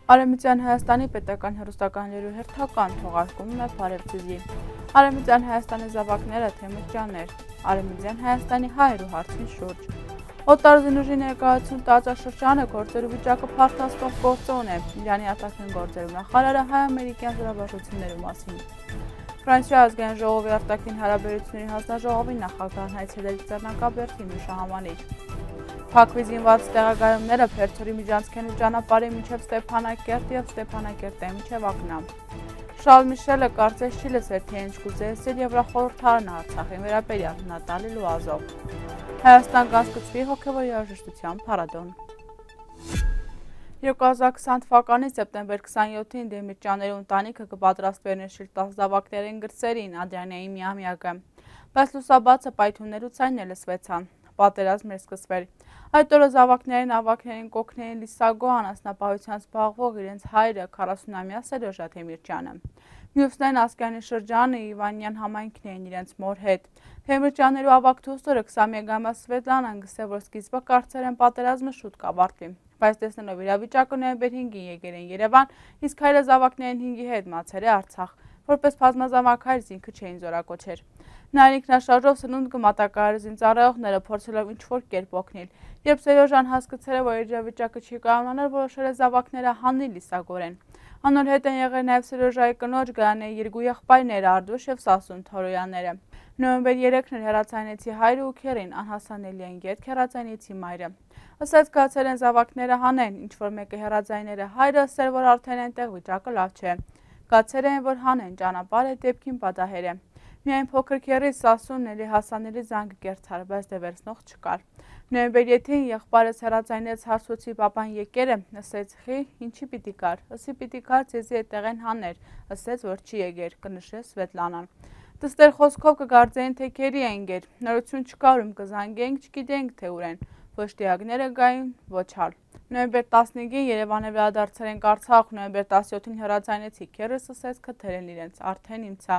Արևմտյան Հայաստանի պետական հեռուստականների հերթական թողարկումն է Փարեվցիզի։ Արևմտյան Հայաստանի զավակները Թեմուրճյաններ, Արևմտյան Հայաստանի հայերու հարցին շուրջ։ Օտարզինուժի ներկայացում տարածաշրջանը գործերու վիճակը փարթաստող գործոն է, Իրանի արտաքին գործերու նախարարը հայ-ամերիկյան զորավարժություններու մասին։ Ֆրանսիա ազգային ժողովի արտաքին հարաբերությունների հանձնաժողովի նախագահն այցելել Ծերնակաբերդին ու Շահամանիր։ Փակվի զինված տեղակայումները Փերթորի միջանցքենու ճանապարհի մինչև Ստեփանակերտ և Ստեփանակերտի մինչև Ակնա։ Շարլ Միշելը կարծես չի լսեր, թե ինչ կուզեցել Եվրախորհրդարանը Արցախի վերաբերյալ Նատալի Լուազով։ Հայաստան կանցկացվի հոգևոր երաժշտության փառատոն։ 2020 թվականի սեպտեմբեր 27-ին Դեմիրճյանների ընտանիքը կպատրաստվեր ներշիլ 10 զավակներին գրծերին Ադրյանեի միամյակը, բայց լուսաբացը պայթուններու ցայնը լսվեցան, պատերազմ էր սկսվել։ Այդ օրը զավակներին ավագներին կօգնեին Լիսագո անասնապահությամբ զբաղվող իրենց հայրը 40-ամյա Սերոժա Թեմիրճյանը։ Մյուսներն Ասկյանի շրջանը Իվանյան համայնքն էին իրենց մոր հետ։ Թեմիրճյաններու ավագ դուստորը 21-ամյա Սվետլանան գսե, որ սկիզբը կարծեր են պատերազմը շուտ կավարտվի, բայց տեսնելով իրավիճակը նոյեմբեր 5-ին եկել են Երևան, իսկ հայրը զավակներին 5-ի հետ մացել է Արցախ, որպես բազմազավակ հայր ինքը չէին զորակոչեր։ Նայր ինքնաշարժով սնունդ կմատակարար զինծառայողները փորձելով ինչ-որ կերպ օգնել։ Երբ Սերոժան հասկացել է, որ իրավիճակը չի կարողանալ, որոշել է զավակները հանել Լիսագորեն։ Անոր հետ են եղել նաև Սերոժայի կնոջ Գայանեի երկու եղբայրները Արդուշ և Սասուն Թորոյանները։ Նոյեմբեր 3-ն էր հեռացանեցի հայրը ու քերին, անհասանելի են գերք հեռացանեցի մայրը։ Ասած գացել են զավակները հանեն, ինչ-որ մեկը հեռացայները հայրը ասել, որ արդեն այնտեղ վիճակը լավ չէ։ Գացել են, որ հանեն, ճանապարհը դեպքին պատահեր է։ Միայն փոքր քերի Սասունն էլի հասանելի զանգ կերցար, բայց դե վերցնող չկար։ Նոյեմբեր 7-ին եղբայրս հեռացայնեց հարցուցի պապան եկեր է, ասեց խի, ինչի պիտի կար, ըսի պիտի կար ձեզի այդտեղ են հաներ, ասեց, որ չի եկեր, կնշեց Սվետլանան։ Դստեր խոսքով կգարձեին, թե քերի են գեր, նորություն չկար ում կզանգենք, չգիտենք թե ուր են, ոչ դիակները գային, ոչ հալ։ Նոյեմբեր 15-ին Երևանը վերադարձել են Արցախ, նոյեմբեր 17-ին հեռացայնեցի քերս ասեց քթեր են իրենց, արդեն իմցա։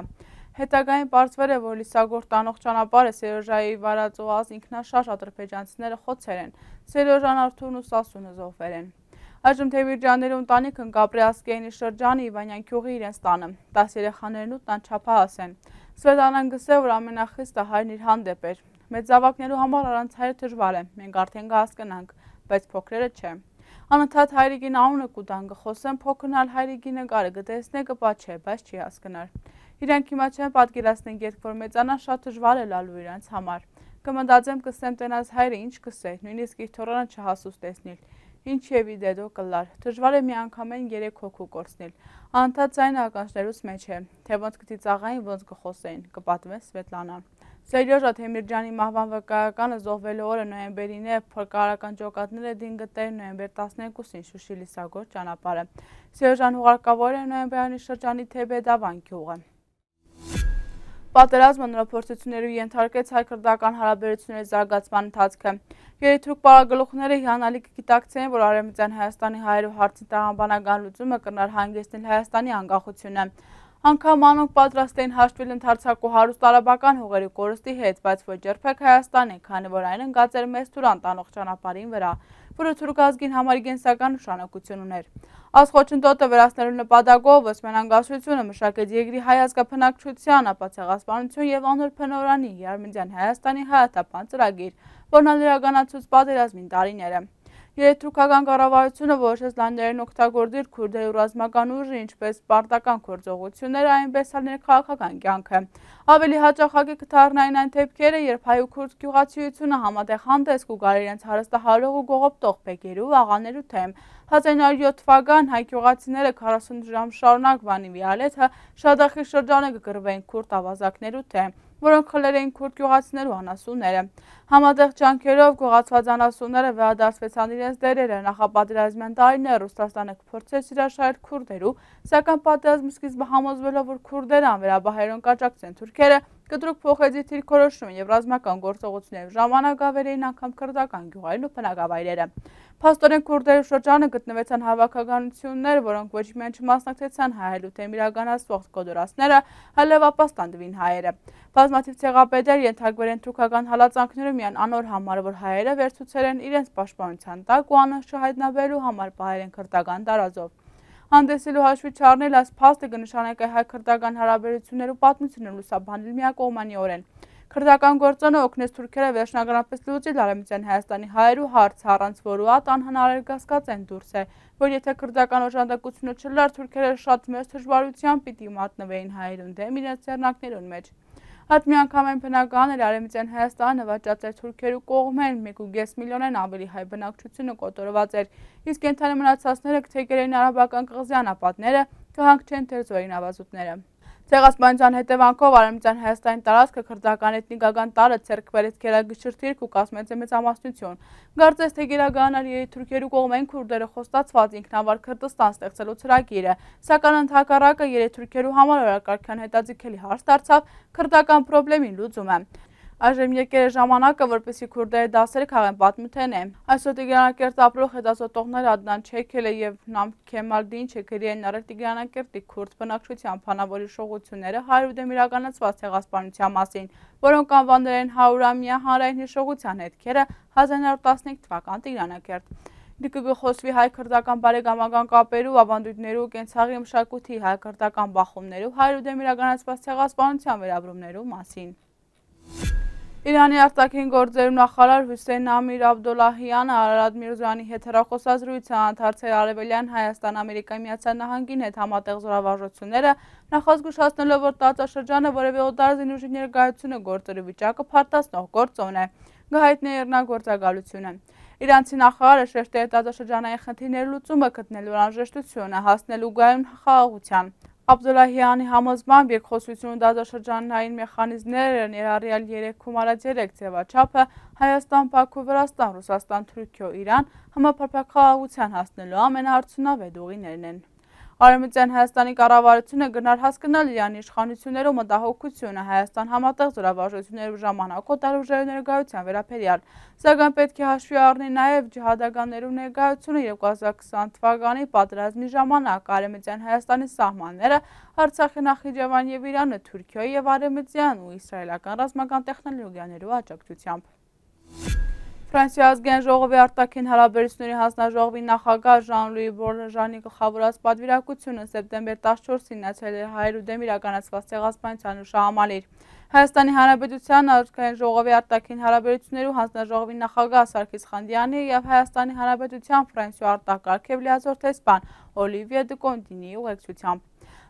Հետագային պարզվել է, որ Լիսագոր տանող ճանապարհը Սերոժայի վարածոած ինքնաշարժ ադրբեջանցիները խոցել են, Սերոժան Արթուրն ու Սասունը զոհվել են։ Այժմ Թեմիրճյանների ընտանիքն կապրի Ասկերանի շրջանի Իվանյան գյուղի իրենց տանը, 10 երեխաներն 8 անչափահաս են։ Սվետլանան գսե, որ ամենախիստը հայրն իր հանդեպ էր։ Մեծ զավակներու համար առանց հայրը դժվար է, մենք արդեն կհասկանանք, բայց փոքրերը չէ։ Անընդհատ հայրիկին անունը կուտան կխոսեն, փոքրնալ հայրիկի նկարը կտեսնե կպաչե, բայց չի հասկնար։ Իրանք հիմա չեն պատկերացնեն երբ որ մեծանան շատ դժվար է լալու իրանց համար։ Կմտածեմ կսեմ տենաս հայրը ինչ կսե, նույնիսկ իր թորանը չհասուս տեսնել։ Ինչ եւի դեդո կլար, դժվար է մի անգամեն 3 հոգու կորցնել։ Անընդհատ ձայնը ականջներուց մեջ է, թե ոնց կծիծաղային, ոնց կխոսեին, կպատմե Սվետլանան։ Սերոժա Թեմիրճյանի մահվան վկայականը զոհվելու օրը նոյեմբերին է, փրկարարական ջոկատները դին գտել նոյեմբեր 12-ին Շուշի Լիսագոր ճանապարհը։ Սերոժան հուղարկավոր է նոյեմբերյանի շրջանի Թեբեդավան գյուղը։ Պատերազմը նորապորցություններու ենթարկեց հայ-քրդական հարաբերությունների զարգացման ընթացքը։ Երիթուրք պարագլուխները հիանալի կգիտակցեն, որ Արևմտյան Հայաստանի հայերու հարցի տրամաբանական լուծումը կրնար հանգեցնել Հայաստանի անկախությունը։ Անգամ անոնք պատրաստ էին հաշտվել ընդարձակու հարուստ արաբական հողերի կորստի հետ, բայց ոչ երբեք Հայաստանի, քանի որ այն ընկած էր մեծ Թուրան տանող ճանապարհին վրա, որը թուրք ազգին համար գենսական նշանակություն ուներ։ Այս խոչընդոտը վերացնելու նպատակով Օսմանյան մշակեց երկրի հայ ազգաբնակչության ապացեղասպանություն եւ անոր փնորանի Արևմտյան Հայաստանի հայաթափան ծրագիր, որն իրականացուց պատերազմին տարիները։ Երեթուրքական կառավարությունը որոշեց լանջերին օգտագործել քուրդերի ռազմական ուժը, ինչպես պարտական գործողությունները, այնպես էլ ներքաղաքական կյանքը։ Ավելի հաճախակի կթարնային այն դեպքերը, երբ հայ ու քուրդ գյուղացիությունը համատեղ հանդես կուգար իրենց հարստահարող ու գողոպտող բեկերու աղաներու թեմ։ 1907 թվական հայ գյուղացիները 40 ժամ շարունակ վանի վիալեթը Շադախի շրջանը կգրվեին քուրդ ավազակներու թեմ, որոնք խլել էին քուրդ գյուղացիներու անասունները։ Համատեղ ջանքերով գողացված անասունները վերադարձվեցան իրենց դերերը, նախապատերազմյան տարիներ Ռուսաստանը կփորձեց հրաշայել քուրդերու, սակայն պատերազմի սկիզբը համոզվելով, որ քուրդերը անվերաբահերոն կաջակցեն թուրքերը, կտրուկ փոխեց իր դիրքորոշումը եւ ռազմական գործողությունների ժամանակ ավերեին անգամ քրդական գյուղերն ու բնակավայրերը։ Փաստորեն քուրդերի շրջանը գտնվեցան հավաքականություններ, որոնք ոչ միայն չմասնակցեցան հայելու թեմ իրականացվող կոդորասները, այլև ապաստանդվին հայերը։ Բազմաթիվ ցեղապետեր ենթարկվել են թուրքական հալածանքներում միայն անոր համար, որ հայերը վերցուցել են իրենց պաշտպանության տակ ու անոնց չհայտնաբերելու համար պահել են քրդական տարածով։ Հանդեսելու հաշվի չառնել այս փաստը կնշանակի հայ-քրդական հարաբերություններու պատմությունը լուսաբանել միակողմանիորեն։ Քրդական գործոնը օգնեց թուրքերը վերջնականապես լուծել Արևմտյան Հայաստանի հայերու հարցը, առանց որու այդ անհնարել կասկածեն դուրս է, որ եթե քրդական օժանդակությունը չլար, թուրքերը շատ մեծ դժվարությամբ պիտի մատնվեին հայերուն դեմ իրենց ձեռնարկներուն մեջ։ Այդ միանգամայն բնական էր Արևմտյան Հայաստանը նվաճած էր թուրքերու կողմեն 1.5 միլիոնեն ավելի հայ բնակչությունը կոտորված էր, իսկ կենդանի մնացածները կթեքեր էին արաբական կղզի անապատները, կհանգչեն թերձորին ավազուտները։ Ցեղասպանության հետևանքով Արևմտյան Հայաստանի տարածքը քրդական էթնիկական տարը ցերկ բերեց գերագշրթիրք ու կազմեց մեծամասնություն։ Կարծես թե գերագանարի թուրքերու կողմեն քուրդերը խոստացված ինքնավար Քրդստան ստեղծելու ծրագիրը, սակայն ընդհակառակը երեթուրքերու համար օրակարգյան հետաձգելի հարց դարձավ քրդական խնդրի լուծումը։ Այժմ եկել է ժամանակը, որպեսզի քուրդերը դասեր քաղեն պատմութենե։ Այսօր Տիգրանակերտ ապրող հետազոտողները Ադնան Չեքելը եւ Նամ Քեմալ Դինչը գրի են արել Տիգրանակերտի քուրդ բնակչության փանավորի շողությունները 100-ում իրականացված ցեղասպանության մասին, որոնք անվանել են 100-ամյա հանրային հիշողության հետքերը 1915 թվական Տիգրանակերտ։ Դիկը գխոսվի հայ-քրդական բարեկամական կապերու, ավանդույթներու, կենցաղի մշակույթի, հայ-քրդական բախումներու 100-ում իրականացված ցեղասպանության վերաբերումներու մասին։ Իրանի արտաքին գործերու նախարար Հուսեյն Ամիր Աբդոլլահյանը Արարատ Միրզոյանի հետ հեռախոսազրույց է անդրադարձել Արևելյան Հայաստան-Ամերիկայի Միացյալ Նահանգին հետ համատեղ զորավարժությունները, նախազգուշացնելով, որ տարածաշրջանը որևէ օտար զինուժի ներկայությունը գործելու վիճակը փարտացնող գործոն է, գահիտնի է իրնագործակալությունը։ Իրանցի նախարարը շեշտել է տարածաշրջանային խնդիրների լուծումը գտնելու անհրաժեշտությունը, հասնելու գայուն խաղաղության։ Աբդոլլահյանի համոզմամբ երկխոսությունը տարածաշրջանային մեխանիզմները ներառյալ 3+3 ձևաչափը Հայաստան, Բաքու, Վրաստան, Ռուսաստան, Թուրքիա, Իրան համապարփակ խաղաղության հասնելու ամենաարդյունավետ ուղիներն են։ Արևմտյան Հայաստանի կառավարությունը գնար հասկանալ Իրանի իշխանություններու մտահոգությունը Հայաստան համատեղ զորավարժություններու ժամանակ օտարուժերի ներկայության վերաբերյալ, սակայն պետք է հաշվի առնի նաև ջիհադականներու ներկայությունը 2020 թվականի պատերազմի ժամանակ Արևմտյան Հայաստանի սահմանները Արցախի, Նախիջևան եւ Իրանը Թուրքիայի եւ արևմտյան ու իսրայելական ռազմական տեխնոլոգիաներու աջակցությամբ։ Ֆրանսիա ազգային ժողովի արտաքին հարաբերությունների հանձնաժողովի նախագահ Ժան-Լուի Բորժանի գլխավորած պատվիրակությունը սեպտեմբեր 14-ին նացել էր հայերու դեմ իրականացված ցեղասպանության հուշահամալիր։ Հայաստանի Հանրապետության ազգային ժողովի արտաքին հարաբերություններու հանձնաժողովի նախագահ Սարգիս Խանդյանի եւ Հայաստանի Հանրապետության Ֆրանսիա արտակարգ եւ լիազոր տեսփան Օլիվիե դե Կոնտինիի ուղեկցությամբ։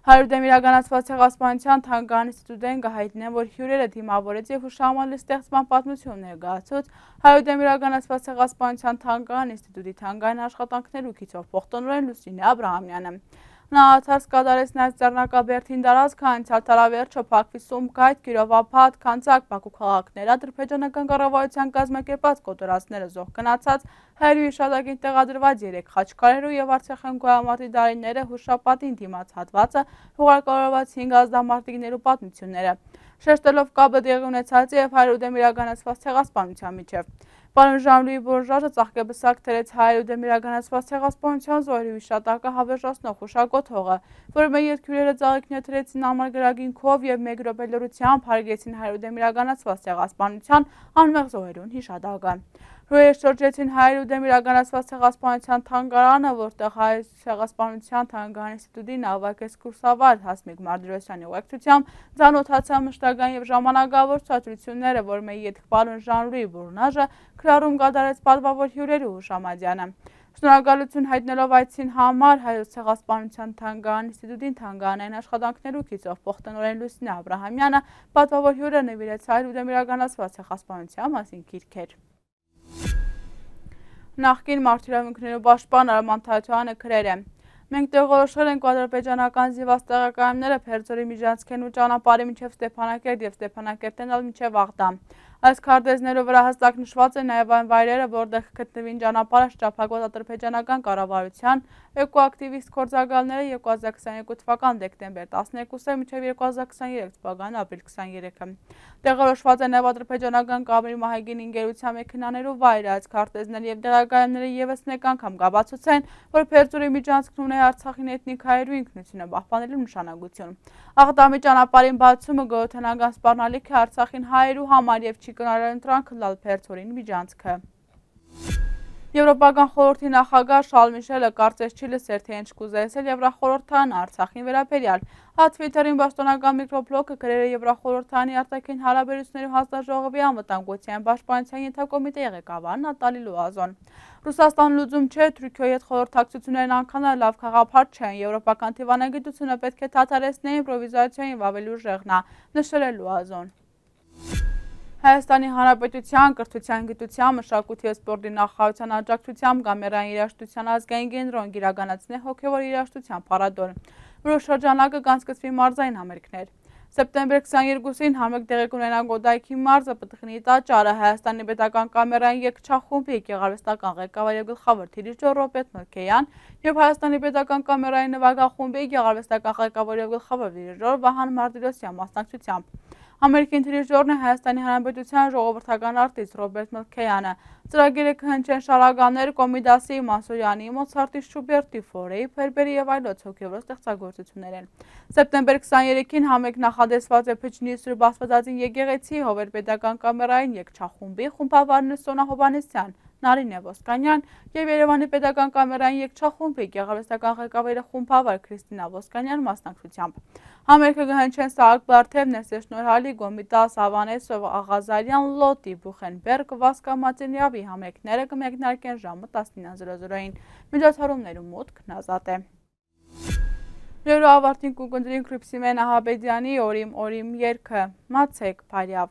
Հայերու դեմ իրականացված ցեղասպանության թանգարան ինստիտուտեն գահիտնեն, որ հյուրերը դիմավորեց եւ հուշահամալիրի ստեղծման պատմություն ներկայացուց հայերու դեմ իրականացված ցեղասպանության թանգարան ինստիտուտի թանգարան աշխատանքներու գիծով փոխտնօրեն Լուսինե Աբրահամյանը։ Նա աթարս կատարեց նաև Ձեռնակաբերդին տարածքը, անցյալ տարավերջը Բաքվի Սումգայիթ, Կիրովափաթ, Քանձակ, Բաքու քաղաքներ, ադրբեջանական կառավարության կազմակերպած կոտորածները զոհ գնացած հայերու հիշատակին տեղադրված 3 խաչքարերու եւ Արցախյան գոյամարտի դարիները հուշապատին դիմաց հատվածը հուղարկավորված 5 ազդամարտիկներու պատմությունները, շեշտելով կապը տեղի ունեցած եւ հայերու դեմ իրականացված ցեղասպանության միջև։ Պարոն Ժան-Լուի Բորժանը ծաղկեբսակ թերեց հայերու դեմ իրականացված ցեղասպանության զոհերի հիշատակը հավերժացնող հուշագոթողը, որը մեր երկրները ծաղիկներ թրեցին ամառ գրագինքով եւ մեկ րոպե լրությամբ հարգեցին հայերու դեմ իրականացված ցեղասպանության անմեղ զոհերուն հիշատակը։ Հյուրերը շրջեցին հայերու դեմ իրականացված ցեղասպանության թանգարանը, որտեղ հայ ցեղասպանության թանգարան ինստիտուտի նավակես կուրսավար Հասմիկ Մարտիրոսյանի ուղեկցությամբ ծանոթացան մշտական եւ ժամանակավոր ցուցադրությունները, որ մեր ետք-պարոն Ժան-Լուի Բորժանը քրարում կատարեց պատվավոր հյուրերու հուշամատյանը։ Շնորհակալություն հայտնելով այցին համար հայոց ցեղասպանության թանգարան ինստիտուտին թանգարանային աշխատանքներու գիծով փոխտնօրեն Լուսինե Աբրահամյանը պատվավոր հյուրը նվիրեց հայերու դեմ իրականացված ցեղասպանության մասին գիրքեր։ Նախկին մարդիրավունքներու պաշտպան Արման Թաթյանը գրել է. Մենք տեղորոշել ենք ադրբեջանական զինված տեղակայումները Փերձորի միջանցքեն ու ճանապարհի մինչև Ստեփանակերտ եւ Ստեփանակերտեն ալ մինչև Աղդամ։ Այս քարտեզներով վրա հստակ նշված է նաև այն վայրերը, որտեղ կգտնվին ճանապարհը շրջափակված ադրբեջանական կառավարության էկոակտիվիստ գործակալները 2022 թվական դեկտեմբեր 12-ը մինչև 2023 թվական ապրիլ 23-ը։ Տեղորոշված է նաև ադրբեջանական կամերի մահագին ինգերության մեքենաներու վայրը, այս քարտեզները եւ տեղակայումները եւս մեկ անգամ կապացուցեն, որ Փերձորի միջանցքն ունի Արցախին էթնիկ հայերու ինքնությունը պահպանելու նշանակություն։ Աղդամի ճանապարհին բացումը գոյութենական սպառնալիք է Արցախին հայերու համար եւ չի կնարել ընտրանքը լալ Փերձորին միջանցքը։ Եվրոպական խորհրդի նախագահ Շարլ Միշելը կարծես չի լսեր, թե ինչ կուզեցել Եվրախորհրդան Արցախին վերաբերյալ։ Թվիթերին պաշտոնական միկրոբլոգը գրել է Եվրախորհրդանի արտաքին հարաբերությունների հանձնաժողովի անվտանգության պաշտպանության ենթակոմիտեի ղեկավար Նատալի Լուազոն։ Ռուսաստան լուծում չէ, Թուրքիայի հետ խորհրդակցություններն անգամ լավ խաղապար չեն, եվրոպական դիվանագիտությունը պետք է դադարեցնել իմպրովիզացիային և ավելի ուժեղնա, նշել է Լուազոն։ Հայաստանի Հանրապետության կրթության, գիտության, մշակույթի և սպորտի նախարարության աջակցությամբ Գամերային երաժշտության ազգային կենտրոն կիրականացնի հոգևոր երաժշտության փառատոն, որի շրջանակը կանցկացվի մարզային համերգներ։ Սեպտեմբեր 22-ին համերգ տեղի կունենա Գոդայքի մարզը, Պտղնի տաճարը, Հայաստանի պետական կամերային երգչախումբի գեղարվեստական ղեկավար և գլխավոր դիրիժոր Ռոբերտ Մելքեյան և Հայաստանի պետական կամերային նվագախումբի գեղարվեստական ղեկավար և գլխավոր դիրիժոր Վահան Մարտիրոսյան մասնակցությամբ։ Համերգի դիրիժորն է Հայաստանի Հանրապետության ժողովրդական արտիստ Ռոբերտ Մելքեյանը։ Ծրագիրը կհնչեն շարականներ Կոմիդասի, Մանսուրյանի, Մոցարտի, Շուբերտի, Ֆորեի, Ֆերբերի և այլոց հոգևոր ստեղծագործություններ են։ Սեպտեմբեր 23-ին համերգ նախադեсված է Փչնի Սուրբ Աստվածածին եկեղեցի Հովեր պետական կամերային երգչախումբի խումբավարն Սոնա Հովհաննիսյան, Նարինե Ոսկանյան և Երևանի պետական կամերային երգչախումբի գեղարվեստական ղեկավարի խումբավար Քրիստինա Ոսկանյան մասնակցությամբ։ Համերգը կհնչեն Սահակ Բարթև, Ներսես Շնորհալի, Գոմիտաս Ավանեսով, Աղազարյան, Լոտի, Բուխենբերգ, Վասկա Մատենյավի համերգները կմեկնարկեն ժամը 19:00-ին։ Միջոցառումներում մուտքն ազատ է։ Լուրը ավարտին կուկնդրին Քրիփսիմեն Ահաբեդյանի Օրիմ երգը, մացեք Փարյավ։